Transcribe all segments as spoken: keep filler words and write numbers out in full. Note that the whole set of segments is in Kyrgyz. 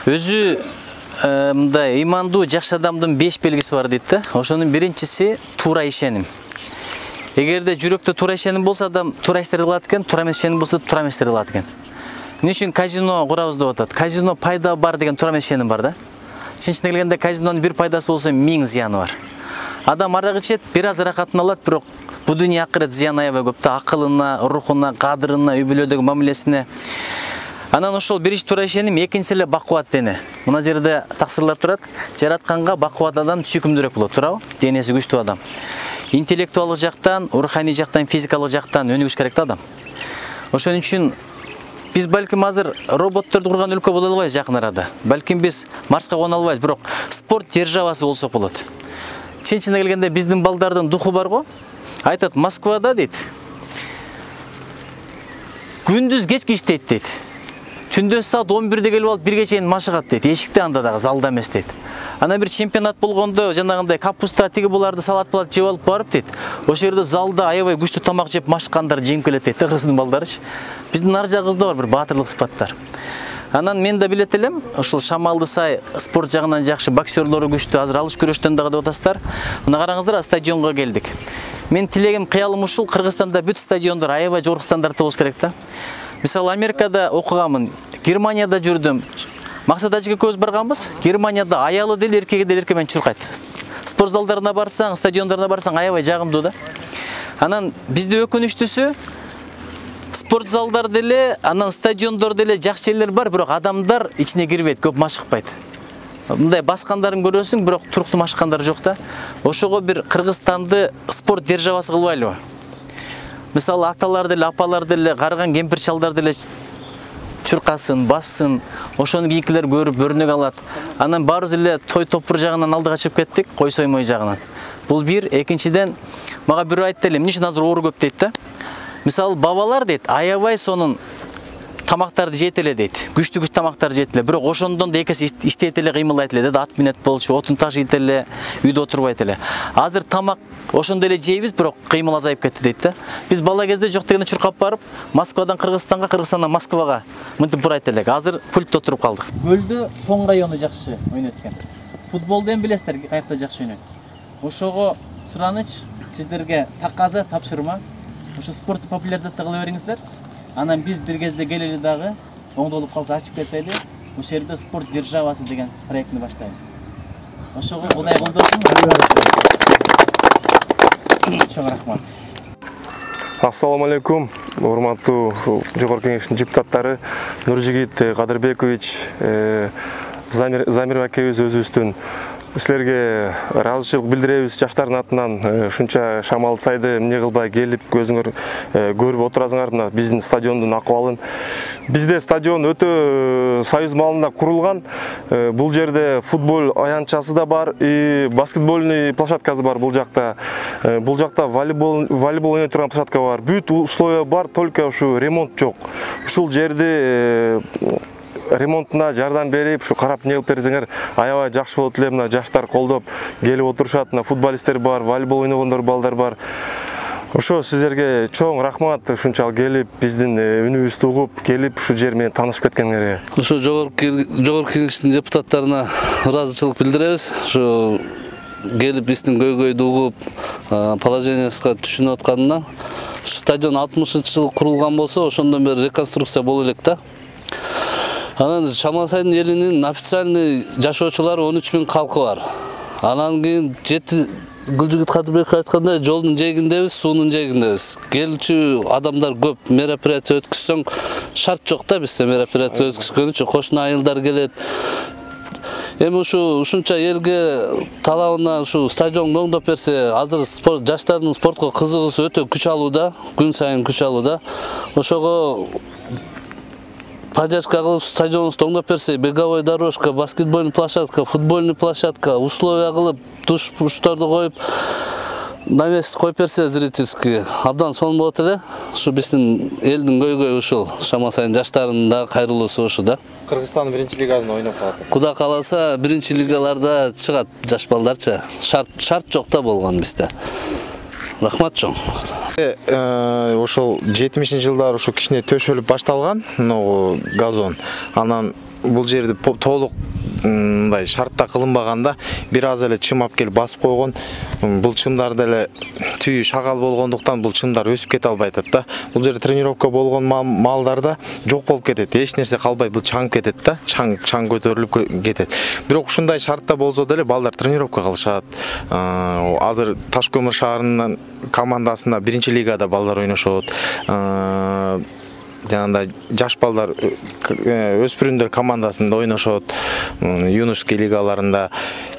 Өзү мындай ыймандуу жакшы адамдын беш белгиси бар дейт да. Ошонун биринчиси туура ишеним. Эгерде жүрөктө туура ишеним болсо, адам туура иштерди кылат экен, туура эмес ишеним болсо, туура эмес иштерди кылат экен. Эмне үчүн казино курабыз деп атат? Казино пайда бар деген туура эмес ишеним бар да. Чынчына келгенде казинонун бир пайдасы болсо, миң зыяны бар. Адам арак ичет, бир аз ырахатын алат, бирок бу дүйнө акырет зыян аябай көп да, акылына, рухуна, кадырына, үй бүлөдөгү мамилесине. Анан ошол биринчи туура ишеним, экинчиси эле бакубат дене. Мына жерде таксырлар турат. Жаратканга бакубат адам сүйкүмдүүрөөк болот, туурабы? Денеси күчтүү адам. Интеллектуалдык жактан, руханий жактан, физикалык жактан өнүгүш керек да адам. Ошон үчүн биз балким азыр роботторду курган өлкө боло албайбыз жакын арада. Балким биз Марска кона албайбыз, бирок спорт державасы болсок болот. Чынчына келгенде биздин балдардын духу бар го. Айтат, Москвада дейт, күндүз кечки иштейт дейт. Түндө саат он бирде келип алып бирге чейин машыгат дейт. Эшикте анда дагы, залда эмес дейт. Ана бир чемпионат болгондо жанагындай капуста тиги буларды салат булат жеп алып барып дейт. Ошол жерде залда аябай күчтүү тамак жеп машыккандар жеңип келет дейт. Кыргыздын балдарычы. Биздин ар жагыбызда бар бир баатырлык сыпаттар. Анан мен да билет элем, ошол Шамалды сай спорт жагынан жакшы, боксерлору күчтүү, азыр алыш күрөштөн дагы деп атасыздар. Мына караңыздар, стадионго келдик. Мен тилегим, кыялым ушул, Кыргызстанда бүт стадиондор аябай жогорку стандартта болуш керек да. Мисалы, Америкада окуганмын, Германияда жүрдүм. Максат ажыга көз барганбыз. Германияда аялы деле, эркеги деле эрке менен чуркайт. Спорт залдарына барсаң, стадиондоруна барсаң аябай жагымдуу да. Анан бизде өкүнүчтүүсү, спорт залдар деле, анан стадиондор деле жакшы жерлер бар, бирок адамдар ичине кирбейт, көп машыкпайт. Мындай баскандарын көрөсүң, бирок туруктуу машыккандар жок да. Ошого бир Кыргызстанды спорт державасы кылбайлыбы? Мисалы, аталар деле, апалар деле, карыган кемпир чалдар деле чуркасын, бассын, ошону кийинкилер көрүп өрнөк алат. Анан баарыбыз эле той топур жагынан алдыга чыгып кеттик, кой соймой жагынан. Бул бир, экинчиден, мага бирөө айтты эле, эмне үчүн азыр оору көп дейт да. Мисалы, бабалар дейт, аябай сонун тамактарды жейт эле дейт. Күчтүү-күчтүү тамактарды жейт эле, бирок ошондон да экеси иштейт эле, кыймылдайт эле да, ат минет болчу, отун ташыйт эле, үйдө отурбайт эле. Азыр тамак ошондой эле жейбиз, бирок кыймыл азайып кетти дейт да. Биз бала кезде жок дегенде чуркап барып, Москвадан Кыргызстанга, Кыргызстандан Москвага мынтип бурайт элек. Азыр пультта отуруп калдык. Көлдө Тоң району жакшы ойнойт экен. Футболду эми билесиздер, каякта жакшы ойнойт. Ошого сураныч сиздерге таказа, тапшырма. Ошо спортты популяризация кыла бериңиздер. Анан биз бир кезде келели дагы, оңдолуп калса ачып кетели, ошол жерде спорт державасы деген проектни баштайлы. Ошого Кудай колдосун. Чоң рахмат. Ассаламу алейкум, урматтуу жогорку кеңештин депутаттары, Нуржигит Кадырбекович, Замир акебиз өзүбүздүн силерге ыраазычылык билдиребиз жаштардын атынан. Ушунча Шамал сайды эмне кылбай келип көзүңөр көрүп отурасыңар мына биздин стадиондун акыбалын. Бизде стадион өтө союз маалында курулган. Бул жерде футбол аянтчасы да бар, и баскетбольный площадкасы бар бул жакта. Бул жакта волейбол волейбол ойной турган площадка бар. Бүт условия бар, только ушу ремонт жок. Ушул жерди ремонтуна жардам берип, ушу карап не кылып берсеңер аябай жакшы болот эле. Мына жаштар колдоп келип отурушат, мына футболисттер бар, волейбол ойногондор балдар бар. Ошо сиздерге чоң рахмат, ушунчалык келип биздин үнүбүздү угуп келип ушу жер менен таанышып кеткениңерге. Ошо жогорку кеңештин депутаттарына ыраазычылык билдиребиз. Ошо келип биздин көйгөйдү угуп, положениясына түшүнүп атканына. Стадион алтымышынчы жылы курулган болсо, ошондон бери реконструкция боло элек да. Анан Шамал сайдын элинин официальный жашоочулары он үч миң калкы бар. Анан кийин жети Гүлжигит Кадырбеков айткандай, жолдун жээгиндебиз, суунун жээгиндебиз. Келчү адамдар көп, мероприятие өткүзсөң шарт жок да бизде мероприятие өткүзгөн үчүн. Кошуна айылдар келет. Эми ушу ушунча элге талабына ушу стадионду оңдоп берсе, азыр спорт жаштардын спортко кызыгуусу өтө күч алууда, күн сайын күч алууда. Ошого поддержка кылып стадионубузду оңдоп берсе, беговой дорожка, баскетбольный площадка, футбольный площадка, условия кылып, душ-пушторду коюп, навес коюп берсе зрительский, абдан сонун болот эле. Ушу биздин элдин көйгөйү ушул. Шамал сайдын жаштарынын да кайрылуусу ушу да. Кыргызстандын биринчи лигасында ойноп калат. Куда кааласа биринчи лигаларда чыгат жаш балдарчы. Шарт шарт жок да болгон бизде. Рахмат чоң. Ошол жетимишинчи жылдары ушу кичине төшөлүп башталган, могу газон. Анан бул жерди толук мындай шартта кылынбаганда бир аз эле чым алып келип басып койгон. Бул чымдар деле түйү шагал болгондуктан бул чымдар өсүп кете албай атат да. Бул жерде тренировка болгон маалдарда жок болуп кетет. Эч нерсе калбайт, бул чаң кетет да. Чаң чаң көтөрүлүп кетет. Бирок ушундай шартта болсо деле балдар тренировка кылышат. Азыр Таш көмүр шаарынын командасында биринчи лигада балдар ойношот. Жанагындай жаш балдар өспүрүмдөр командасында ойношот, юношеский лигаларында.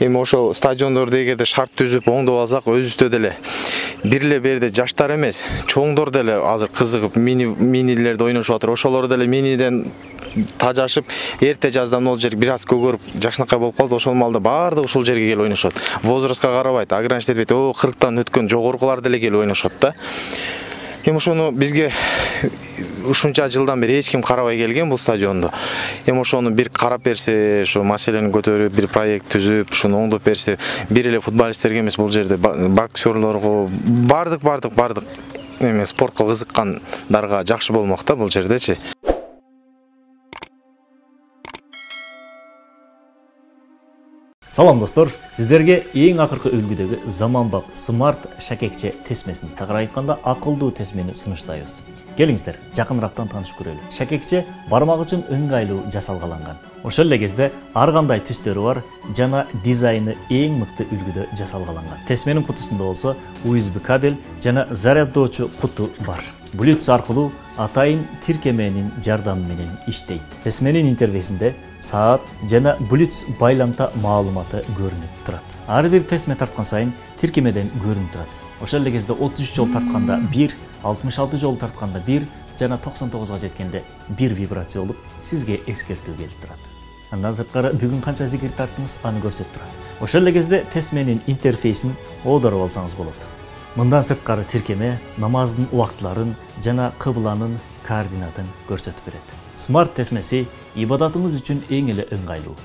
Эми ошол стадиондорду эгерде шарт түзүп оңдоп алсак, өзүбүздө деле бир эле берде жаштар эмес, чоңдор деле азыр кызыгып мини минилерде ойношуп атыр. Ошолор деле миниден тажашып, эрте жаздан ол жер бир аз көгөрүп, жакшынакай болуп калды. Ошол маалда баардыгы ушул жерге келип ойношот. Возрастка карабайт, ограничить этпейт. О, кырктан өткөн жогоркулар деле келип ойношот да. Эми ошону бизге ушунча жылдан бери эч ким карабай келген бул стадионду. Эми ошону бир карап берсе, ошо маселени көтөрүп, бир проект түзүп, ушуну оңдоп берсе, бир эле футболисттерге эмес, бул жерде боксерлорго, бардык бардык бардык эме спортко кызыккандарга жакшы болмок да бул жердечи. Салам достор, сиздерге эң акыркы үлгүдөгү заманбап смарт шакекче тесмесин, тагыраак айтканда акылдуу тесмени сунуштайбыз. Келиңиздер, жакыныраактан таанышып көрөлү. Шакекче бармак үчүн ыңгайлуу жасалгаланган. Ошол эле кезде ар кандай түстөрү бар жана дизайны эң мыкты үлгүдө жасалгаланган. Тесменин кутусунда болсо ю эс би кабель жана заряддоочу куту бар. Bluetooth аркылуу атайын тиркеменин жардамы менен иштейт. Тесменин интерфейсинде саат жана Bluetooth байламта маалыматы көрүнүп турат. Ар бир тесме тарткан сайын тиркемеден көрүнүп турат. Ошол эле кезде отуз үч жолу тартканда бир, алтымыш алты жолу тартканда бир жана токсон тогузга жеткенде бир вибрация болуп, сизге эскертүү келип турат. Андан сырткары бүгүн канча зикир тарттыңыз, аны көрсөтүп турат. Ошол эле кезде тесменин интерфейсин оодарып алсаңыз болот. Мындан сырткары тиркеме намаздын убактыларын жана кыбланын координатын көрсөтүп берет. Смарт тесмеси ибадатыңыз үчүн эң эле ыңгайлуу.